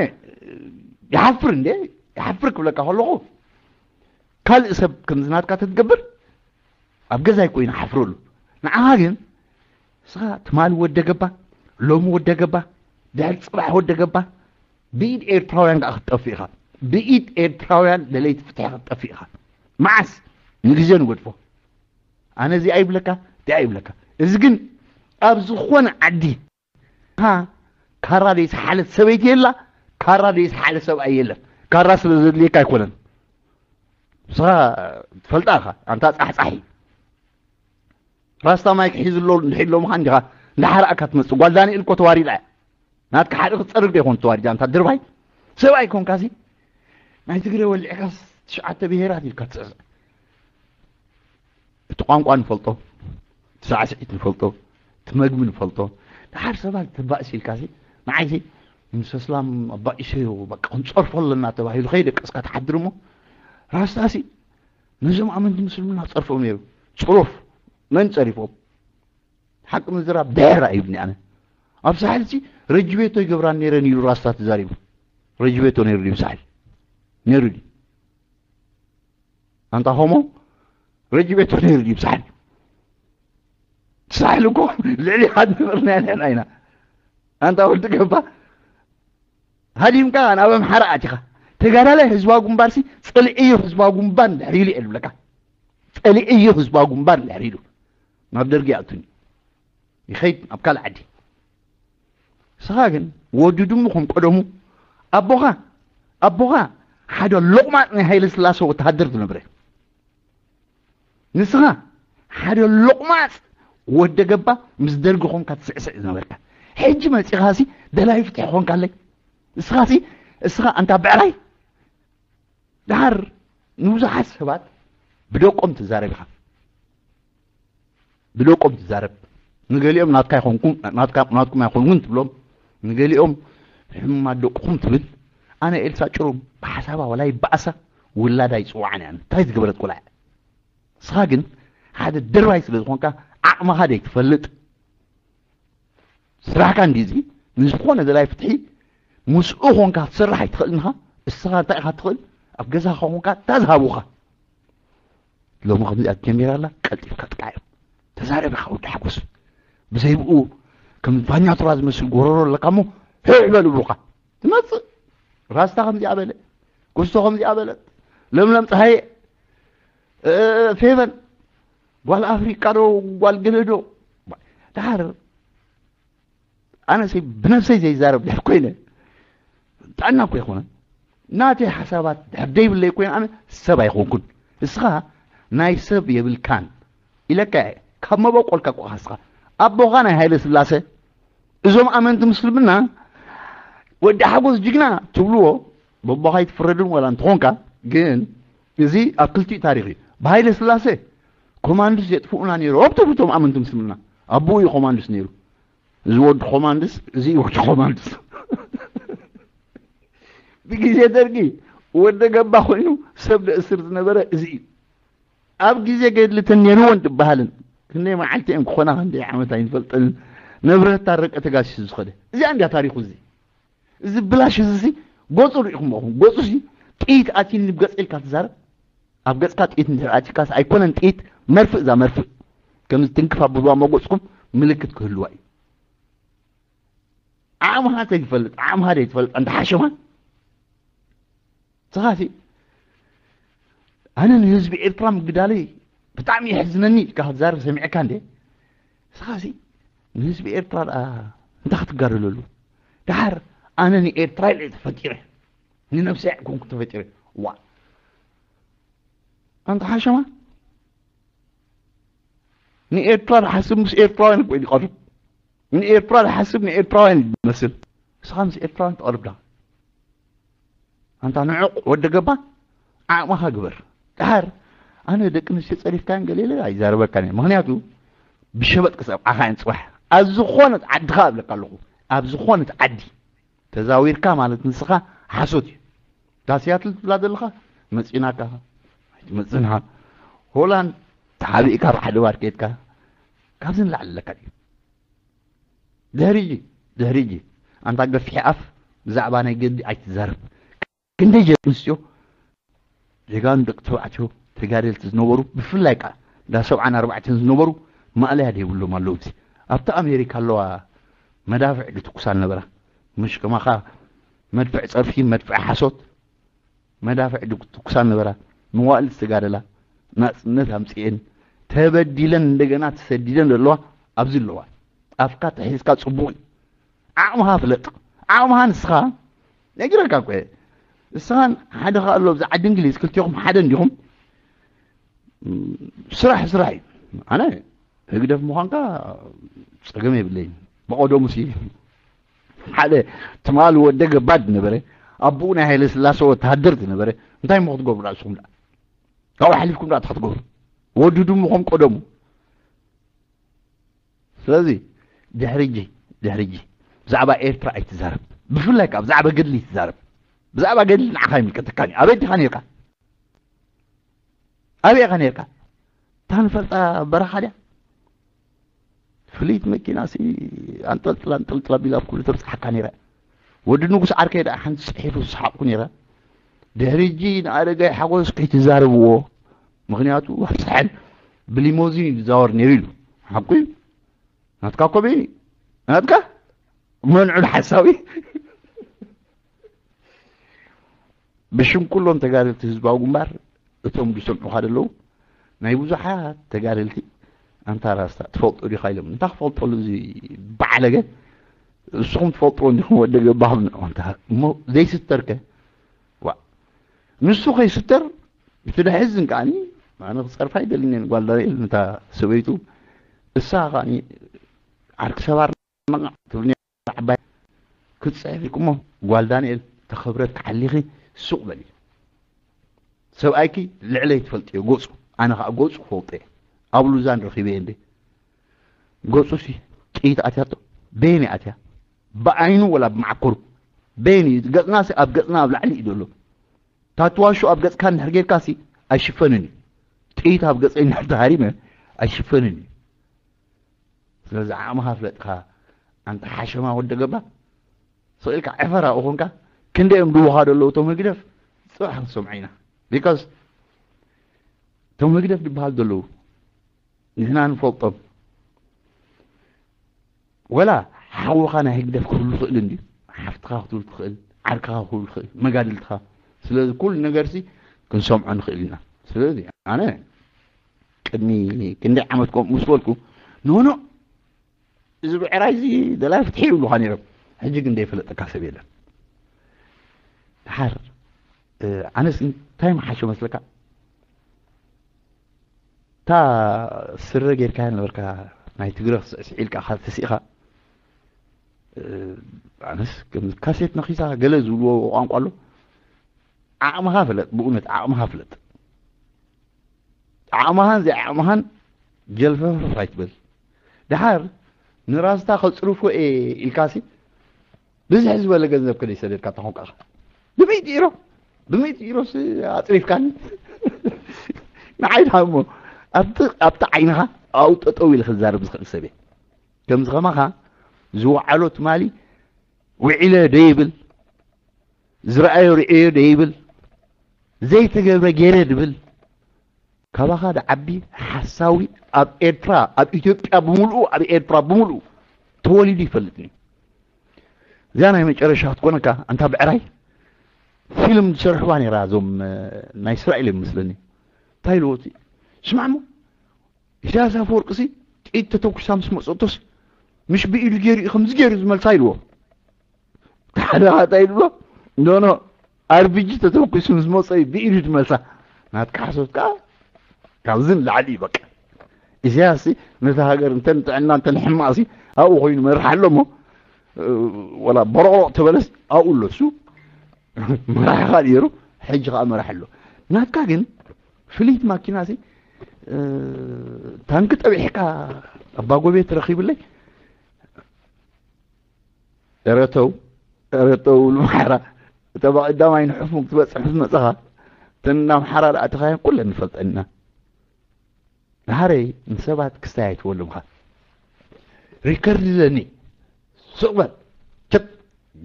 ይሓፍር እንዴ ይሓፍር ክብለካ ከለኹ ካልእ ሰብ ከምዚ ናትካ ተትገብር ኣብ ገዛይ ኮይኑ ሓፍረሉ ንዓኻ ግን እስኻ ትማሊ ወደ ገባ ሎሚ ወደ ገባ ድሕሪ ፅባሕ ወደ ገባ ብኢድ ኤርትራውያን ከዓ ክትጠፍእ ኢኻ ብኢድ ኤርትራውያን ደለይቲ ፍትሒ ክትጠፍእ ኢኻ መዓስ ንግዜ ንገድፎ ኣነ እዚኣ ይብለካ እዚኣ ይብለካ እዚ ግን ኣብ ዝኾነ ዓዲ ካራ ዘይሰሓለት ሰበይቲ የላ ካራ ዘይሰሓለ ሰብኣይ የለን ካራ ስለ ዘድልየካ ኣይኮነን ንስኻ ትፈልጣ ኢኻ ኣንታ ፃሕፃሒ ራስታ ማይክ ሒዙ ኣሎ እንድሕር ኢሎምኻ እንዲኻ እንዳሓራእካ ትመፅእ ጓል ዳንኤል እኮ ተዋሪዳ እያ ናትካ ሓደ ክትፀርግ ዶ ይኾን ተዋሪዳ ኣንታ ድርባይ ሰብኣይ ኮንካሲ ናይ ትግረ ወሊዕካስ ትሽዓተ ብሄራት ኢልካ ትፅዕዕ እቲ ቋንቋ ንፈልጦ እቲ ሳዕስዒት ንፈልጦ እቲ መግቢ ንፈልጦ ደሓር ሰባት ተባእሲ ኢልካሲ ንዓይሲ ምስ ኣስላም ኣባኢሰዮ በቃ ክንፀርፎ ኣለና ተባሂሉ ከይደቀስካ ትሓድር እሞ ራስታሲ ነዞም ኣመንቲ ምስልምና ክፀርፎም ነይሩ ፅሩፍ መን ፀሪፎም ሓቂ ምዝራብ ድሕር ኣይብኒ ኣነ ኣብ ሳሕል ሲ ረጅቤቶ ይገብራን ነይረን ኢሉ ራስታ ተዛሪቡ ረጅቤቶ ነይሩ ድዩ ሳሕል ነይሩ ድዩ ኣንታ ሆሞ ረጅቤቶ ነይሩ ድዩ ሳሕል ሳሕል እኮ ልዕሊ ሓድ ነበርና ንሕና ኢና ኣንታ ወዲ ገባ ሃዲምካ ናብ ኣምሓራ ኣቲኻ ተጋዳላይ ህዝባዊ ግንባርሲ ፀሊእዮ ህዝባዊ ግንባር እንድሕር ኢሉ እየ ዝብለካ ፀሊእዮ ህዝባዊ ግንባር እንድሕር ኢሉ ናብ ደርጊ ይኣቱኒ ይኸይድ ናብ ካልእ ዓዲ ንስኻ ግን ወዲ ድሙ ከም ቀደሙ ኣቦኻ ኣቦኻ ሓደ ሎቕማጥ ናይ ሃይለ ስላሰ ወተሃደር ዝነበረ ንስኻ ሓደ ሎቕማጽ ወደ ገባ ምስ ደርጊ ኾንካ ትስዕስዕ ዝነበርካ ሕጂ መጺኻሲ ደላይ ፍትሒ ኾንካለይ እስኻሲ እስኻ ኣንታ ብዕራይ ደሓር ንብዙሓት ሰባት ብደቆም ትዛረብ ኢኻ ብደቆም ትዛረብ ንገሊኦም ናትካ ኣይኮንኩም ናትካ ናትኩም ኣይኮንኩን ትብሎም ንገሊኦም ሕሙማት ደቅኹም ትብል ኣነ ኤልሳ ጭሩም ብሓሳባ ወላ ይበኣሳ ውላዳ ይፅዋዕን እያ እንታይ ዝገበረት ቆልዓ ንስኻ ግን ሓደ ደርባይ ስለ ዝኾንካ ዓቕምኻ ደይትፈልጥ ስራሕካ እንዲ እዚ ንዝኾነ ዘላይ ፍትሒ ምስኡ ኾንካ ክትሰርሕ ኣይትኽእልን ኢኻ እስኻ እንታይ ኢኻ ትኽእል ኣብ ገዛኻ ኾንካ እንታይ ዝሃቡኻ ሎሚ ከምዚኣ ጀሚራ ኣላ ቀልጢፍካ ጥቃዮም ተዛረብ ኢኻ ወዲ ሓጎስ ብዘይብኡ ከም ፋኛቱራ ዝመስል ጎረሮ ኣለካ እሞ ህዕ በል ብሩኻ ትመፅእ ራስታ ከምዚኣ በለ ኩስቶ ከምዚኣ በለት ለምለም ፀሃየ ፌቨን ጓል ኣፍሪቃ ዶ ጓል ገለ ዶ ድሓር ኣነሰይ ብነብሰይ ዘይዛረብ ድሕር ኮይነ ጥዕና እኮ ይኮነ ናተይ ሓሳባት ድሕር ደይብለይ ኮይነ ኣነ ሰብ ኣይኮንኩን እስኻ ናይ ሰብ የብልካን ኢለካ ካብ መበቆልካ እኮ እስኻ ኣቦኻ ናይ ሃይለ ስላሰ እዞም ኣመንቲ ምስልምና ወዲ ሓጎስ ጅግና ትብልዎ በቦኻ ይትፍረድን ዋላ እንትኾንካ ግን እዚ ኣብ ክልቲኡ ታሪኽ እዩ ብሃይለ ስላሰ ኮማንዱስ የጥፍኡና ነይሮም ትብሉ እቶም ኣመንቲ ምስልምና ኣቦኡ እዩ ኮማንዱስ ነይሩ እዚ ወዲ ኮማንድስ እዚ ወዲ ኮማንድስ ብግዜ ደርጊ ወደ ገባ ኮይኑ ሰብ ደእስር ዝነበረ እዚ እዩ ኣብ ግዜ ገድሊ ተነይርዎን ትበሃልን ክንደይ መዓልቲ እዮም ክኾና ክንደይ ዓመት ኣይንፈልጠንን ንብረት ታረቀ ተጋሲሱ ዝኸደ እዚኣ እንዲያ ታሪኹ እዚ እዚ ብላሽ እዚ ሲ ጎፁ ርኢኹም ኹም ጎፁ ሲ ጥይት ኣትይኒ ብገፅ ኢልካ ትዛረብ ኣብ ገፅካ ጥይት እንድሕር ኣትይካስ ኣይኮነን ጥይት መርፍእ እዛ መርፍእ ከምዚ ትንክፍ ኣብልዋ መጎፅኩም ምልክት ክህልዋ እዩ ዓቕምኻ ተይትፈልጥ ዓቕምኻ ዘይትፈልጥ እንተ ሓሸማ ስኻሲ ኣነ ንህዝቢ ኤርትራ ምግዳለይ ብጣዕሚ የሕዝነኒ ኢልካ ክትዛረብ ሰሚዕካ እንደ ስኻሲ ንህዝቢ ኤርትራ ደኣ እንታይ ክትጋደለሉ ደሓር ኣነ ንኤርትራ ኢለ ተፈጢረ ንነብሰይ ኣይኮንኩ ተፈጢረ ዋ ኣንታ ሓሸማ፣ ንኤርትራ ዝሓስብ ምስ ኤርትራውያን እኮ እዩ ዝቐርብ። ንኤርትራ ዝሓስብ ንኤርትራውያን እዩ ዝመስል። ንስኻ ምስ ኤርትራውያን ትቐርብ ዳ? ኣንታ ንዑቕ ወደ ገባ፣ ዓቕምኻ ግበር። ደሓር ኣነ ደቂ ኣንስትዮ ጸሪፍካን ገለ ኢለ ኣይዛረበካን እየ። ምኽንያቱ ብሸበጥ ክሰብዓኻ እየን ጽባሕ። ኣብ ዝኾነት ዓድኻ እብለካ ኣለኹ። ኣብ ዝኾነት ዓዲ ተዛዊርካ ማለት ንስኻ ሓሶት እዩ። እታ ሲያትል ትብላ ዘለኻ መጺናካ፣ ኣይትመጽእን ኢኻ። ሆላንድ ተሓቢእካ ብሓደ ባር ከይድካ ካብዚ ንላዕሊ ኣለካ ድዩ? ድሕሪ ሕጂ፣ ድሕሪ ሕጂ ኣንታ ገፊሕ ኣፍ ብዛዕባ ናይ ገዲ ኣይትዛረብ። ክንደይ ደቂ ኣንስትዮ ጀጋኑ ደቂ ተባዕትዮ ተጋደልቲ ዝነበሩ፣ ብፍላይ ከኣ እንዳ ሰብዓን ኣርባዕተን ዝነበሩ ማእለያ ዘይብሎም ኣለዉ። ኣብዚ ኣብቲ ኣሜሪካ ኣለዋ መዳፍዕ ድትኩሳ ነበራ። ምሽ ከማኻ መድፍዕ ጸርፊ፣ መድፍዕ ሓሶት፣ መዳፍዕ ድትኩሳ ነበራ። መዋእል ዝተጋደላ ናጽነት ኣምጽኤን ተበዲለን እንደገና ተሰዲደን ዘለዋ ኣብዚ ኣለዋ። ኣፍካ ተሒዝካ ጽቡቕ እዩ። ዓቕምኻ ፍለጥ። ዓቕምኻ ንስኻ ነጊረካ እኮ እየ። ንስኻን ሓደ ከኣ ኣሎ ኣብዚ ዓዲ እንግሊዝ ክልቲኹም ሓደ እንዲኹም። እም፣ ስራሕ ስራሕ እዩ። ኣነ ህግደፍ ምዃንካ ጸገም የብለይን። ብቐደሙ ሲ ሓደ ትማሊ ወደ ገባድ ነበረ፣ ኣቦኡ ናይ ሃይለ ስላሴ ወተሃደር ዝነበረ። እንታይ እሞ ክትገብሩ ንስኹም ደኣ? ካብኡ ሓሊፍኩም ደኣ እንታይ ክትገብሩ? ወዲ ድሙ ከም ቀደሙ። ስለዚ ድሕሪ ሕጂ፣ ድሕሪ ሕጂ ብዛዕባ ኤርትራ ኣይትዛረብ። ብፍላይ ከኣ ብዛዕባ ገድሊ ኣይትዛረብ። ብዛዕባ ገድሊ ንዓኻ ኣይምልከተካን እዩ። ኣበይ ዲኻ ነይርካ? ኣበይ ኢኻ ነይርካ? እታ ንፈልጣ በረኻ ድያ? ፍልይቲ መኪና ሲ ኣንጠልጥላ ኣንጠልጥላ ቢላ ኣብ ኩሉ ተብጽሓካ ነይራ። ወዲ ንጉስ ዓርከይ ደኣ ሓንቲ ጽሒፉ ዝሰሓቕኩ ነይረ። ድሕሪ ሕጂ ንኣረጋይ ሓጎስ ከይትዛረብዎ፣ ምኽንያቱ ኣብ ሳሕል ብሊሞዚን እዩ ዝዛወር ነይሩ ኢሉ። ሓቁ እዩ። ናትካ ኮበይ ናትካ መንዑ ሓሳዊ። ብሽም ኩሎም ተጋደልቲ ህዝባዊ ግንባር፣ እቶም ዝሰምዑኻ ዘለዉ ናይ ብዙሓት ተጋደልቲ፣ ኣንታ ራስታ ትፈልጦ ዲኻ ኢሎም። እንታይ ክፈልጠሉ እዚ በዓለገ? ንስኹም ትፈልጥዎ እንዲኹም ወደ ገባኹም ንዑ። ኣንታ እሞ ዘይስተርከ? ዋ፣ ንሱ ከይስተር እቲ ደሕዝን ከኣኒ፣ ኣነ ክጸርፋ ኣይደልን እየ ንጓል ዳንኤል፣ ነታ ሰበይቱ። እሳ ከኣኒ ዓርኪ ሰባር መቐዕ ትብል ነይራ ዓባይ። ክትጽሕፍ ኢልኩሞ፣ ጓል ዳንኤል ተኸብረት ክሓሊኺ ሱቕ በሊ። ሰብኣይኪ ልዕለይ ትፈልጥዮ ገጹ፣ ኣነ ኸኣ ገጹ ክፈልጦ እየ። ኣብ ሉዛን ረኺበ እንዴ። ገጹ ሲ ጥይት ኣትያቶ፣ በየን እያ ኣትያ? ብዓይኑ ወላ ብመዓኮሩ? በየን እዩ? ገጽና ሲ ኣብ ገጽና ኣብ ላዕሊ እዩ ዘሎ። ታትዋሹ ኣብ ገጽካ እንድሕር ጌርካ ሲ ኣይሽፈንን እዩ። ጥይት ኣብ ገጸይ እንድሕር ተሃሪመ ኣይሽፈንን እዩ። ስለዚ ዓቕምኻ ፍለጥካ ኣንታ ሓሸማ ወደ ገባ። ስቕ ኢልካ ዕፈር ኣብኡ ኮንካ፣ ክንደይ እዮም ድውኻ ዘለዉ እቶም ህግደፍ? ጽባሕ ክንሰምዖ ኢና። ቢካዝ እቶም ህግደፍ ዝበሃሉ ዘለዉ ንሕና ንፈልጦም። ወላ ሓውኻ ናይ ህግደፍ ክህሉ ይኽእል እንድዩ። ሓፍትኻ ክትህሉ ትኽእል፣ ዓርክኻ ክህሉ ይኽእል፣ መጋድልትኻ። ስለዚ ኩሉ ነገርሲ ክንሰምዖ ንኽእል ኢና። ስለዚ ኣነ ቅድሚ ክንደይ ዓመት ከምኡ ምስ በልኩ፣ ኖኖ፣ እዚ ብዕራይ እዚ ደላይ ፍትሒ ይብሉኻ ነይሮም። ሕጂ ግን ዘይፈለጠካ ሰብ የለን። ደሓር፣ እ፣ ኣነስ እንታይ ምሓሾ መስለካ? እታ ስረ ጌርካያ ነበርካ፣ ናይ ትግረ ክስዕስዕ ኢልካ ካብ ተሲእኻ፣ እ፣ ኣነስ ከም ካሴት ነኺሳ ገለ ዝብልዎ ቋንቋ ኣሎ። ዓቕምኻ ፍለጥ፣ ብእውነት ዓቕምኻ ፍለጥ። ዓቕምኻን ዘይዓቕምኻን ጀልፈፍረፍ ኣይትበል። ደሓር ንራስታ ከጽርፎ እየ ኢልካሲ ብዝሕ ዝበለ ገንዘብ ከደይሰደድካ ተኾንካ ኢኻ። ብሚእቲ ኢሮ፣ ብሚእቲ ኢሮስ ኣጽሪፍካኒ። ንዓይ ደኣ እሞ ኣብቲ፣ ኣብቲ ዓይንኻ ኣብኡ ጠጠው ኢለ ክዛረብ ዝኽእል ሰብ እየ። ከምዚ ከማኻ ዝወዓሎ ትማሊ ውዒለ ደይብል፣ ዝረኣዮ ርእዮ ደይብል፣ ዘይተገብረ ገይረ ድብል፣ ካባኻ ድዓቢ ሓሳዊ ኣብ ኤርትራ፣ ኣብ ኢትዮጵያ ብምልኡ፣ ኣብ ኤርትራ ብምልኡ ተወሊዱ ይፈልጥን እዩ። እዚኣ ናይ መጨረሻ ክትኮነካ፣ ኣንታ ብዕራይ፣ ፊልም ዝሰርሕዋ ነይራ፣ እዞም፣ እ፣ ናይ እስራኤል እዮም መስለኒ። እንታይ ኢልዎ እቲ? ስማዕ እሞ፣ ኢሳያስ ኣፈወርቂሲ ጥይት ተተኩሳ ምስ መጸቶስ፣ ምሽ ብኢዱ ገይሩ እዩ ከምዚ ገይሩ ዝመልሳ ኢልዎ። ሓደ ኻታ ኢልዎ፣ ኖ፣ ኖ፣ ኣርቢጂ ተተኩሱ ምስ መጸ እዩ ብኢዱ ዝመልሳ። ናትካ ሓሶት ከኣ ካብዚ ንላዕሊ እዩ በቃ። ኢሳያስ ነቲ ሃገር እንተ ንጥዕና እንተ ንሕማቕሲ ኣብኡ ኮይኑ መርሕ ኣሎ እሞ፣ ወላ በረቕረቕ ተበለስ ኣብኡ ኣሎ እሱ። መራሒ ካልእ ነይሩ፣ ሕጂ ከኣ መራሒ ኣሎ። ናትካ ግን ፍልይቲ ማኪናሲ፣ ታንኪ ጠቢሕካ ኣባጎቤ ትረኺብለይ። እረተው፣ እረተው ልምሓራ። እተ ብቐዳማይ ንሕፉም ክትበጽሕ ምስ መጸኻ፣ እተን ኣምሓራ ደኣ ተኻየን ኩለን ንፈልጠን ኢና። ድሓረይ ንሰባት ክስታይ ኣይትበሉምኻ። ሪከርድ ኣለኒ። ሱቕ በል። ቸት፣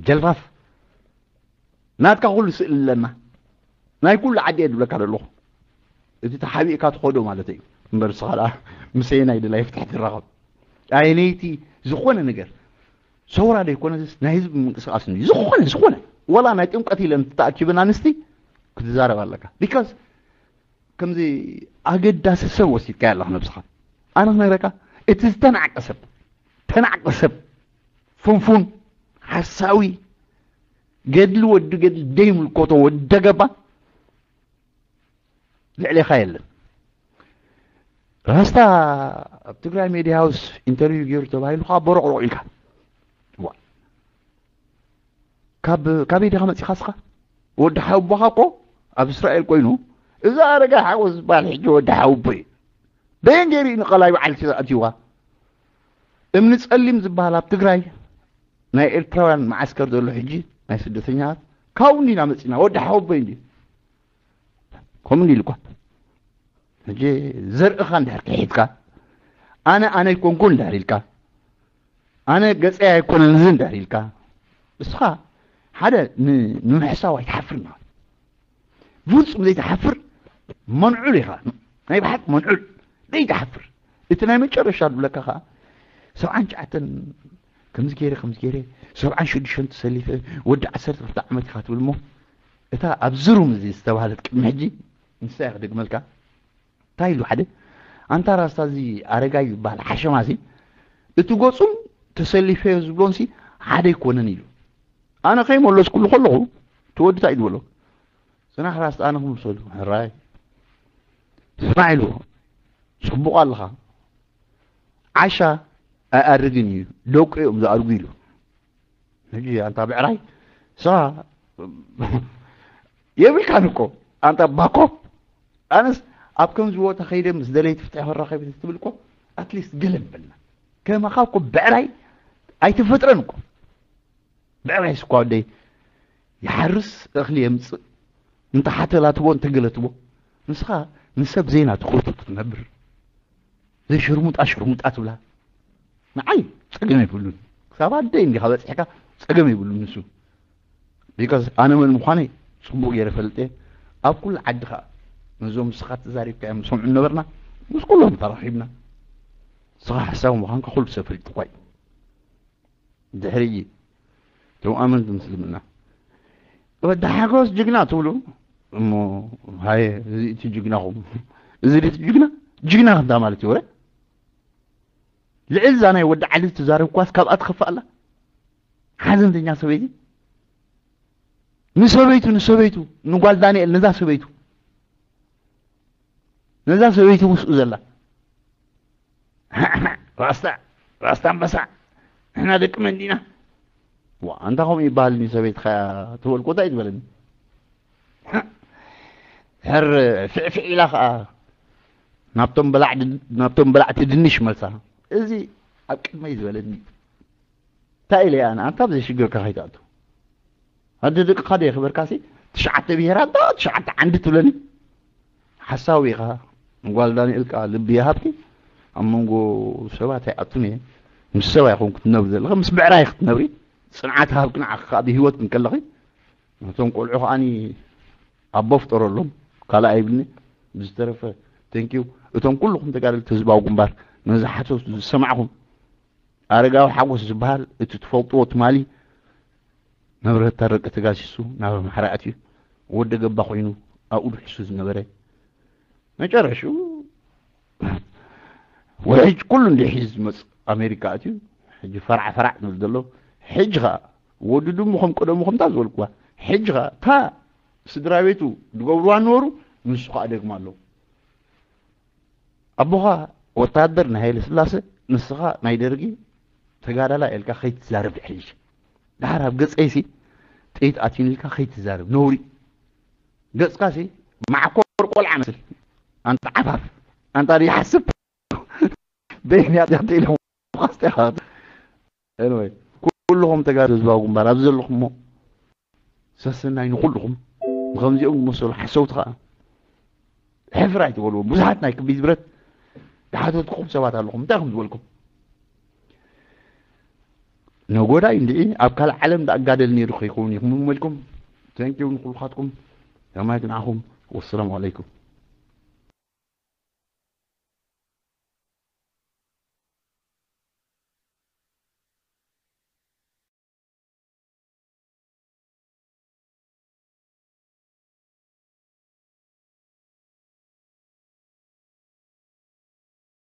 ጀልፋፍ። ናትካ ኩሉ ስእሊ ኣለና። ናይ ኩሉ ዓዲ እየ ዝብለካ ዘለኹ። እቲ ተሓቢእካ ትኸዶ ማለት እዩ። እምበር ንስኻ ደኣ ምሰየናይ ድላይ ፍትሒ ትራኸብ። ኣየነይቲ ዝኾነ ነገር ሰውራ ዶ ይኮነስ ናይ ህዝቢ ምንቅስቃስ እዩ። ዝኾነ፣ ዝኾነ፣ ወላ ናይ ጥምቀት ኢለን ተኣኪበን ኣንስቲ ክትዛረብ ኣለካ። ቢካዝ ከምዚ ኣገዳሲ ሰብ ወሲድካዮ ኣለኻ ነብስኻ። ኣነ ክነግረካ፣ እቲ ዝተናዕቀ ሰብ፣ ተናዕቀ ሰብ፣ ፍንፉን፣ ሓሳዊ፣ ገድሊ ወዲ ገድሊ ደይምልከቶ ወዲ ደገባ ልዕሌኻ የለን። ራስታ ኣብ ትግራይ ሜድያ ሃውስ ኢንተርቪው ገይሩ ተባሂሉ ከዓ ቦሮቕሮቕ ኢልካ። ዋ። ካብ፣ ካበይ ዲኻ መጺኻ እስኻ? ወዲ ሓውቦኻ እኮ ኣብ እስራኤል ኮይኑ፣ እዚ ኣረጋ ሓጎስ ዝበሃል ሕጂ ወዲ ሓውቦ እዩ። በየን ገይሩ እዩ ንቐላይ በዓልቲ ኣእትይዋ? እምኒ ጸሊም ዝበሃል ኣብ ትግራይ ናይ ኤርትራውያን መዓስከር ዘሎ ሕጂ ናይ ስደተኛታት ካብኡ እንዲና መጺና። ወዲ ሓውቦ እዩ እንዲ። ከምኡ እንዲ ኢሉ እኳ። ሕጂ ዘርእኻ እንድሕር ክሒድካ፣ ኣነ ኣነ ኣይኮንኩን እንድሕር ኢልካ፣ ኣነ ገጸይ ኣይኮነን እዚ እንድሕር ኢልካ፣ እስኻ ሓደ ን-፣ ንምሕሳው ኣይትሓፍርን ኢኻ። ፍጹም ዘይትሓፍር መንዑል ኢኻ። ናይ ብሓቂ መንዑል ዘይትሓፍር። እቲ ናይ መጨረሻ ዝብለካ ኸኣ፣ ሰብዓን ትሽዓተን ከምዚ ገይረ፣ ከምዚ ገይረ፣ ሰብዓን ሽዱሽተን ተሰሊፈ፣ ወዲ ዓሰርተ ክልተ ዓመት ኢኻ ትብል እሞ፣ እታ ኣብዚ ሩም እዚ ዝተባህለት ቅድሚ ሕጂ፣ ንሳ እያ ክደግመልካ። እንታይ ኢሉ ሓደ? ኣንታ ራስታ እዚ ኣረጋይ ዝበሃል ሓሸማሲ፣ እቲ ገጹን ተሰሊፈዮ ዝብሎንሲ ሓደ ኣይኮነን ኢሉ። ኣነ ከይመለስኩሉ ከለኹ፣ እቲ ወዲ እንታይ እዩ ዝበሎ? ጽናሕ ራስታ ኣነ ክምልሰሉ። ሕራይ። ስማዕ ኢሉ፣ ጽቡቕ ኣለኻ። ዓሻ ኣይኣርግን እዩ፣ ደቁ እዮም ዝኣርጉ ኢሉ። ሕጂ ኣንታ ብዕራይ፣ ንስኻ የብልካን እኮ፣ ኣንታ ባኮ። ኣነስ ኣብ ከምዚ ቦታ ከይደ ምስ ደለይቲ ፍትሒ ክራኸብ ትብል እኮ፣ ኣትሊስት ገለ ምበልና። ከማኻ እኮ ብዕራይ ኣይተፈጥረን እኮ። ብዕራይስ እኳ ወደይ ይሓርስ፣ እኽሊ የምጽእ፣ እንተ ሓተላ ትቦ፣ እንተ ገለ ትቦ። ንስኻ ንሰብ ዜና ትኹቱ ትነብር። ዘይ ሽርሙጣ ሽርሙጣ ትብላ። ንዓይ ጸገም የብሉን። ክሳብ ኣደይ እንዲኻ በጺሕካ ጸገም የብሉን ንሱ። ቢካዝ ኣነ መን ምዃነይ ጽቡቕ ገይረ ፈልጥ እየ። ኣብ ኩሉ ዓዲ ኸኣ ነዞም ንስኻ ተዛሪብካዮም ዝሰምዑ ነበርና። ምስ ኩሎም ተራኺብና። ንስኻ ሓሳዊ ምዃንካ ኩሉ ሰብ ፈሊጡ እኳ እዩ። ድሕሪ እቶም ኣመንቲ ምስልምና፣ ወዲ ሓጎስ ጅግና ትብሉ እሞ፣ ሃየ፣ እዚ እቲ ጅግናኹም፣ እዚ ድቲ ጅግና፣ ጅግና ክንታ ማለት እዩ። ወረ ልዕል እዛ ናይ ወዲ ዓሊ ትዛረብ ኳስ ካብኣ ትኸፍእ ኣላ። ሓዘንተኛ ሰበይቲ፣ ንሰበይቱ፣ ንሰበይቱ፣ ንጓል ዳንኤል፣ ነዛ ሰበይቱ፣ ነዛ ሰበይቱ ምስኡ ዘላ፣ ራስታ፣ ራስታ ኣንበሳ፣ ንሕና ደቂ መን ዲና? ዋ፣ ኣንታ ከምኡ ይበሃል፣ ንሰበይትኻ ትበልኮ እንታይ ትበለኒ? ሕር ፍዕፍዕ ኢላ ኸኣ ናብቶም በላዕ-፣ ናብቶም በላዕቲ ድንሽ መልሳ። እዚ ኣብ ቅድመይ ዝበለኒ። እንታይ ኢለ ኣነ? ኣንታ ኣብ ዘይሽግርካ ከይትኣቱ። ኣደ ደቅኻ ዶ የኽበርካሲ? ትሽዓተ ብሄራት ዶ ትሽዓተ ዓንዲ ትብለኒ? ሓሳዊ ኢኻ። ጓል ዳንኤል ከኣ ልቢ ይሃብኪ። ኣብ መንጎ ሰባት ኣይኣቱን እየ። ምስ ሰብ ኣይኮንኩ ትነብሪ ዘለኺ፣ ምስ ብዕራይ ክትነብሪ። ጽንዓት ሃብኪ ንዓኺ ከኣ ብህይወት እንከለኺ። ነቶም ቆልዑ ከኣኒ ኣቦ ፍጠረሎም። ካልእ ኣይብልኒ። ብዝተረፈ፣ ቴንኪዩ። እቶም ኩልኹም ተጋደልቲ ህዝባዊ ግንባር፣ ነዚ ሓሶት ዝሰማዕኹም፣ ኣረጋዊ ሓጎስ ዝበሃል፣ እቲ ትፈልጥዎ ትማሊ መብረህታ ደቂ ተጋሲሱ ናብ ኣምሓራ ኣትዩ፣ ወዲ ገባ ኮይኑ ኣብኡ ድሕሱ ዝነበረ፣ መጨረሽኡ ውሕጅ ኩሉ እንዲሒዝ ዝመጽእ ኣሜሪካ ኣትዩ፣ ሕጂ ፈራዕ ፈራዕ ንብል ዘሎ። ሕጂ ኸኣ ወዲ ድሙ ከም ቀደሙ ከምታ ዝበልኩዋ፣ ሕጂ ኸኣ እታ ስድራ ቤቱ ዝገብርዋ ነበሩ፣ ንሱ ኸኣ ደግማ ኣለዉ። ኣቦኻ ወታደር ናይ ሃይለ ስላሰ፣ ንስኻ ናይ ደርጊ ተጋዳላይ ኢልካ ከይትዛረብ ድሕሪ ሕጂ። ድሓር ኣብ ገጸይሲ ጥይት ኣትዩኒ ኢልካ ከይትዛረብ፣ ነውሪ። ገጽካሲ መዓኮር ቆልዓ መስል። ኣንታ ዓፋፍ፣ ኣንታ ዘይሓስብ። በይንያት ያተ ኢሎም ኳስተ። Anyway፣ ኩልኹም ተጋሩ ህዝባዊ ግንባር ኣብዚ ዘለኹም እሞ፣ ሰሰናይ ንኹልኹም። ንኸምዚኦም ዝመሰሉ ሓሰውቲ ኸኣ ሕፍር ኣይትበልዎም። ብዙሓት ናይ ክቢድ ብረት ዝሓተትኩም ሰባት ኣለኹም። እንታይ ኢኹም ዝበልኩም? ነጎዳይ እንድዒ ኣብ ካልእ ዓለም ደኣ እጋደል ነይሩ ከይከውን ኢኹም እሞ ኢልኩም። Thank you ንኹልኻትኩም። ሰማይ ክንዓኹም። ወሰላሙ ዓለይኩም።